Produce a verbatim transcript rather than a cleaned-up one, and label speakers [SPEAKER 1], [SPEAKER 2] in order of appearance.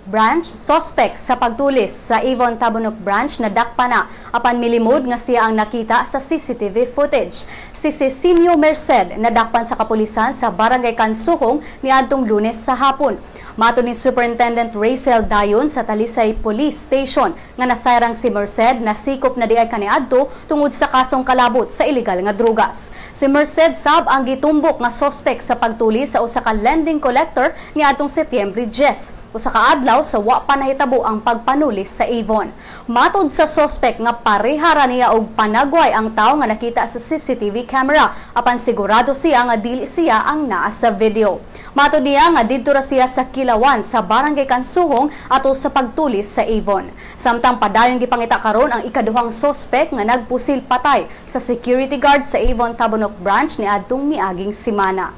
[SPEAKER 1] Branch, suspect sa pagtulis sa Avon Tabunok Branch, nadakpan na apan milimod nga siya ang nakita sa C C T V footage. Si Cecilio Merced nadakpan sa kapulisan sa Barangay Kansuhong niadtong Lunes sa hapon. Matod ni Superintendent Rachel Dayon sa Talisay Police Station nga nasayrang si Merced nasikop na diay kaniadto tungod sa kasong kalabot sa ilegal nga drugas. Si Merced sab ang gitumbok nga suspect sa pagtuli sa usa ka lending collector niadtong Setyembre diyes, usa ka adlaw sa wa pa nahitabo ang pagpanulis sa Avon. Matod sa suspect nga pareha ra niya og panagway ang tawo nga nakita sa C C T V camera, apan sigurado siya nga dili siya ang naa sa video. Matod niya nga didto ra siya sa Kilawan sa Barangay Kansuhong ato sa pagtulis sa Avon. Samtang padayon gipangita karon ang ikaduhang suspect nga nagpusil patay sa security guard sa Avon Tabunok Branch niadtong miaging semana.